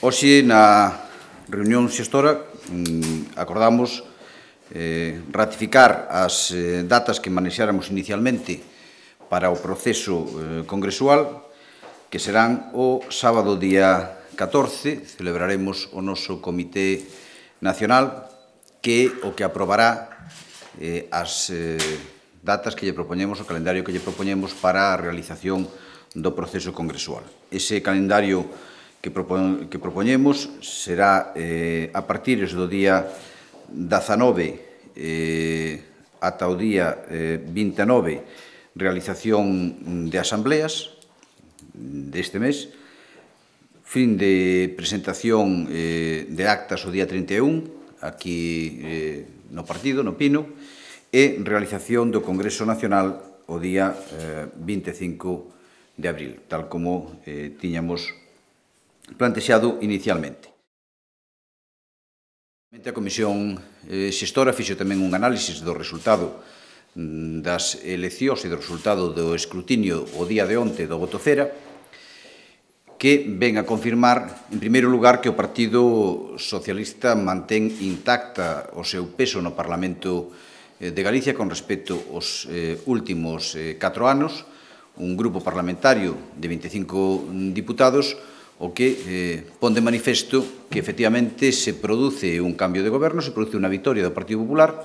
Hoxe, na reunión xestora, acordamos ratificar as datas que manexáramos inicialmente para o proceso congresual, que serán o sábado día 14, celebraremos o noso Comité Nacional, que o que aprobará as datas que lle propoñemos, o calendario que lle propoñemos para a realización do proceso congresual. Ese calendario que propoñemos será a partir do día 19 ata o día 29 realización de asambleas deste mes, fin de presentación de actas o día 31 aquí no partido, no Pino, e realización do Congreso Nacional o día 25 de abril, tal como tiñamos plantexado inicialmente. A Comisión Xestora fixo tamén un análisis do resultado das eleccións e do resultado do escrutinio o día de onte do voto cera, que ven a confirmar, en primeiro lugar, que o Partido Socialista mantén intacta o seu peso no Parlamento de Galicia con respecto aos últimos 4 anos, un grupo parlamentario de 25 diputados, o que pon de manifesto que efectivamente se produce un cambio de goberno, se produce unha victoria do Partido Popular,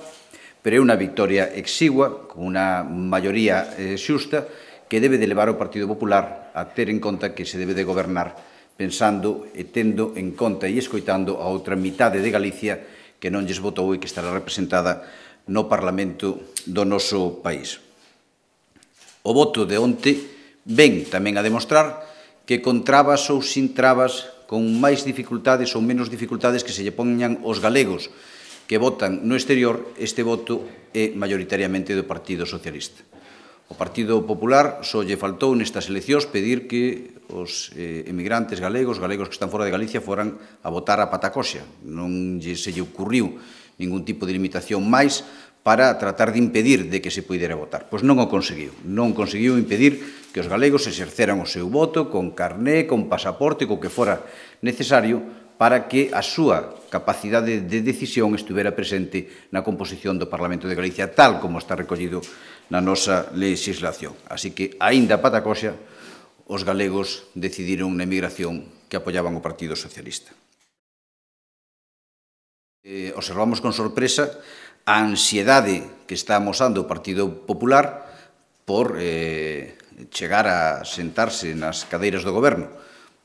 pero é unha victoria exigua, con unha maioría xusta, que debe de levar o Partido Popular a ter en conta que se debe de gobernar pensando e tendo en conta e escoitando a outra mitade de Galicia que non lles votou e que estará representada no Parlamento do noso país. O voto de onte ven tamén a demostrar que con trabas ou sin trabas, con máis dificultades ou menos dificultades que se lle poñan os galegos que votan no exterior, este voto é maioritariamente do Partido Socialista. O Partido Popular só lle faltou nestas eleccións pedir que os emigrantes galegos que están fora de Galicia, foran a votar a patacoxa. Non se lle ocurriu ningún tipo de limitación máis para tratar de impedir de que se pudera votar. Pois non o conseguiu. Non conseguiu impedir que os galegos exerceran o seu voto con carné, con pasaporte, co que fora necesario para que a súa capacidade de decisión estuvera presente na composición do Parlamento de Galicia, tal como está recollido na nosa legislación. Así que, aínda a patacoxa, os galegos decidiron na emigración que apoiaban o Partido Socialista. Observamos con sorpresa a ansiedade que está amosando o Partido Popular por chegar a sentarse nas cadeiras do goberno.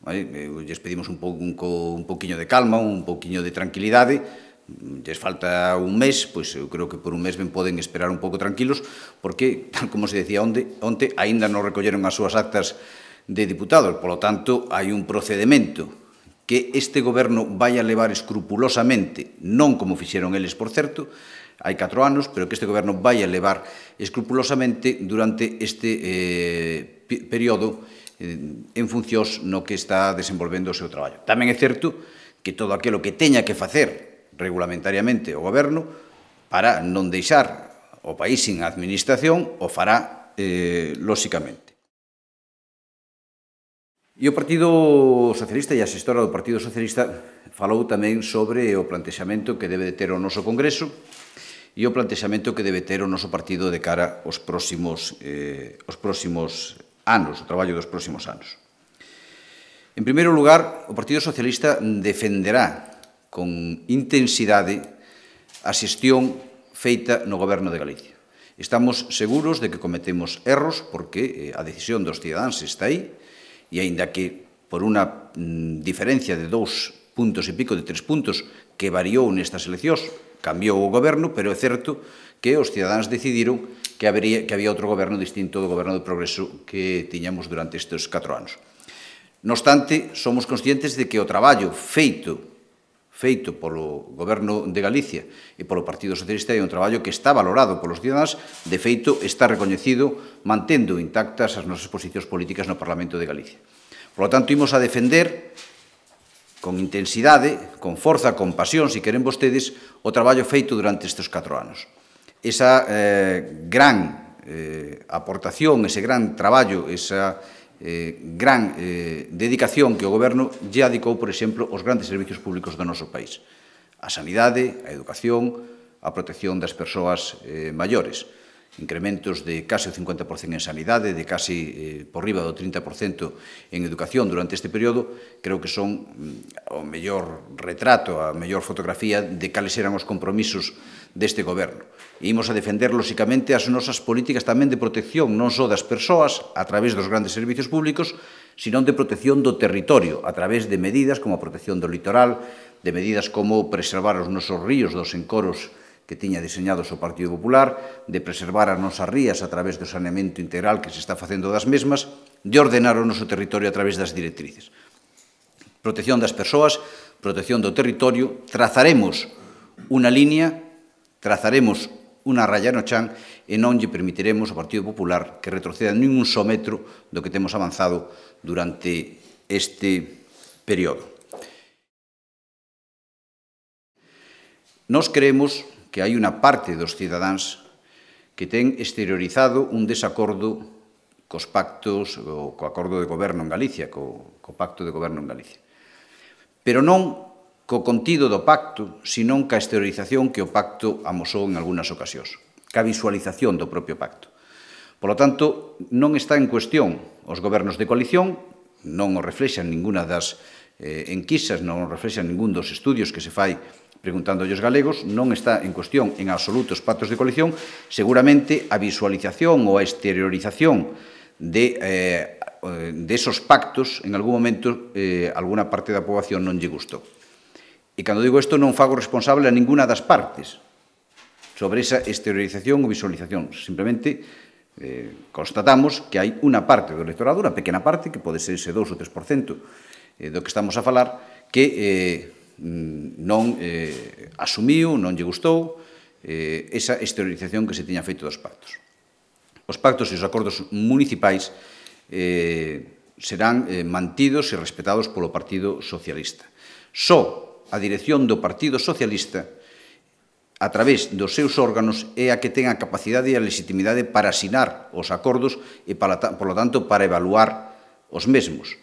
Lles pedimos un pouquiño de calma, un pouquiño de tranquilidade. Lles falta un mes, pois eu creo que por un mes ben poden esperar un pouco tranquilos, porque, tal como se decía onte, aínda non recolleron as súas actas de diputados. Polo tanto, hai un procedimento que este goberno vai a levar escrupulosamente, non como fixeron eles, por certo, hai 4 anos, pero que este goberno vai a levar escrupulosamente durante este período en funcións no que está desenvolvendo o seu traballo. Tamén é certo que todo aquilo que teña que facer regulamentariamente o goberno para non deixar o país sin administración o fará lóxicamente. E o Partido Socialista e a xestora do Partido Socialista falou tamén sobre o plantexamento que debe de ter o noso Congreso e o plantexamento que debe ter o noso partido de cara aos próximos anos, o traballo dos próximos anos. En primeiro lugar, o Partido Socialista defenderá con intensidade a xestión feita no Goberno de Galicia. Estamos seguros de que cometemos erros porque a decisión dos cidadáns está aí, e aínda que por unha diferencia de 2 puntos e pico, de 3 puntos, que variou nestas eleccións, cambiou o goberno, pero é certo que os cidadáns decidiron que había outro goberno distinto do goberno do progreso que tiñamos durante estes 4 anos. Non obstante, somos conscientes de que o traballo feito polo Goberno de Galicia e polo Partido Socialista é un traballo que está valorado polos cidadáns, de feito está recoñecido mantendo intactas as nosas posicións políticas no Parlamento de Galicia. Por lo tanto, imos a defender con intensidade, con forza, con pasión, se queren vostedes, o traballo feito durante estes 4 anos. Esa gran aportación, ese gran traballo, esa gran dedicación que o Goberno lle adicou, por exemplo, aos grandes servicios públicos do noso país. A sanidade, a educación, a protección das persoas maiores. Incrementos de case o 50% en sanidade, de case por riba do 30% en educación durante este período, creo que son o mellor retrato, a mellor fotografía de cales eran os compromisos deste Goberno. E imos a defender, lóxicamente, as nosas políticas tamén de protección, non só das persoas, a través dos grandes servicios públicos, sino de protección do territorio, a través de medidas como a protección do litoral, de medidas como preservar os nosos ríos dos encoros que tiña diseñados o Partido Popular, de preservar as nosas rías a través do saneamento integral que se está facendo das mesmas, de ordenar o noso territorio a través das directrices. Protección das persoas, protección do territorio, trazaremos unha línea, trazaremos unha raya no chan e non lle permitiremos ao Partido Popular que retroceda nin un só metro do que temos avanzado durante este período. Nós creemos que hai unha parte dos cidadáns que ten exteriorizado un desacordo cos pactos, co acordo de goberno en Galicia, co pacto de goberno en Galicia. Pero non co contido do pacto, sino ca exteriorización que o pacto amosou en algunhas ocasións, ca visualización do propio pacto. Por lo tanto, non está en cuestión os gobernos de coalición, non o reflexan ninguna das enquisas, non o reflexan ningún dos estudios que se fai preguntando aos galegos, non está en cuestión en absoluto os pactos de coalición, seguramente a visualización ou a exteriorización de esos pactos, en algún momento, alguna parte da poboación non lle gustou. E cando digo isto, non fago responsable a ninguna das partes sobre esa exteriorización ou visualización. Simplemente constatamos que hai unha parte do electorado, unha pequena parte, que pode ser ese 2 ou 3% do que estamos a falar, que non asumiu, non lle gustou esa exteriorización que se tiña feito dos pactos. Os pactos e os acordos municipais serán mantidos e respetados polo Partido Socialista. Só a dirección do Partido Socialista, a través dos seus órganos, é a que ten a capacidade e a legitimidade para asinar os acordos e, por lo tanto, para evaluar os mesmos.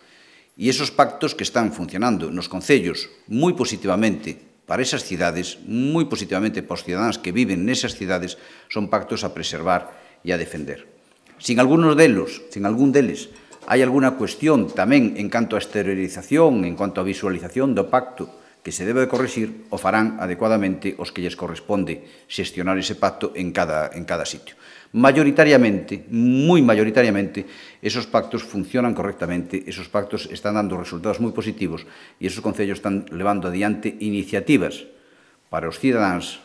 E esos pactos que están funcionando nos concellos moi positivamente para esas cidades, moi positivamente para os cidadáns que viven nesas cidades, son pactos a preservar e a defender. Sin algún deles, hai algunha cuestión tamén en canto a exteriorización, en cuanto a visualización do pacto que se debe de corrixir, o farán adecuadamente os que lles corresponde xestionar ese pacto en cada sitio. Mayoritariamente, moi mayoritariamente, esos pactos funcionan correctamente, esos pactos están dando resultados moi positivos e esos concellos están levando adiante iniciativas para os cidadáns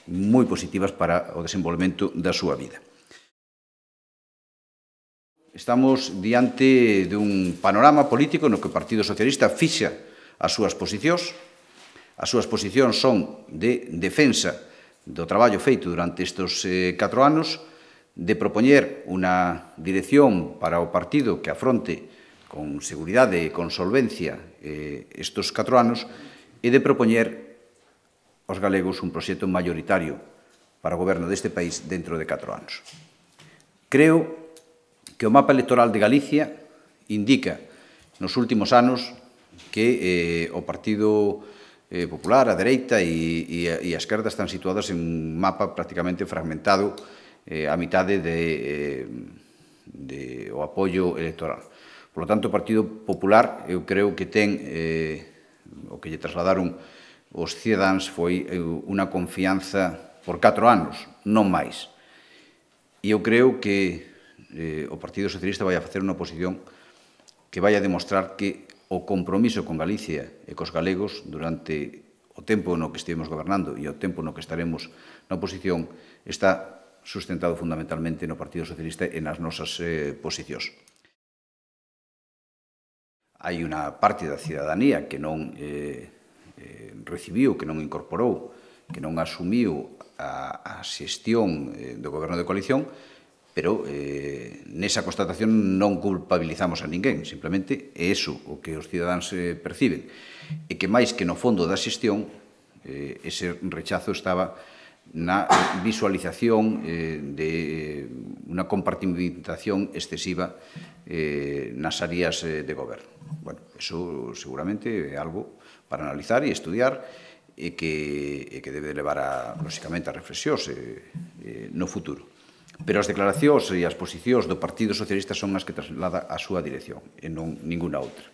moi positivas para o desenvolvemento da súa vida. Estamos diante dun panorama político no que o Partido Socialista fixa as súas posicións. As súas posicións son de defensa do traballo feito durante estes 4 anos, de propoñer unha dirección para o partido que afronte con seguridade e con solvencia estes 4 anos e de propoñer aos galegos un proxecto maioritario para o goberno deste país dentro de 4 anos. Creo que o mapa electoral de Galicia indica nos últimos anos que o Partido Popular, a dereita e a esquerda están situadas en un mapa prácticamente fragmentado a mitade do apoio electoral. Por lo tanto, o Partido Popular, eu creo que ten, o que lle trasladaron os cidadáns foi unha confianza por 4 anos, non máis. E eu creo que o Partido Socialista vai a facer unha oposición que vai a demostrar que o compromiso con Galicia e cos galegos durante o tempo no que estivemos gobernando e o tempo no que estaremos na oposición está sustentado fundamentalmente no Partido Socialista e nas nosas posicións. Hai unha parte da cidadanía que non recibiu, que non incorporou, que non asumiu a xestión do goberno de coalición, pero nesa constatación non culpabilizamos a ninguén, simplemente é iso o que os cidadáns perciben, e que máis que no fondo da xestión, ese rechazo estaba na visualización de unha compartimentación excesiva nas áreas de goberno. Bueno, eso seguramente é algo para analizar e estudiar e que debe levar, lóxicamente, a reflexións no futuro. Pero as declaracións e as posicións do Partido Socialista son as que traslada a súa dirección e non ninguna outra.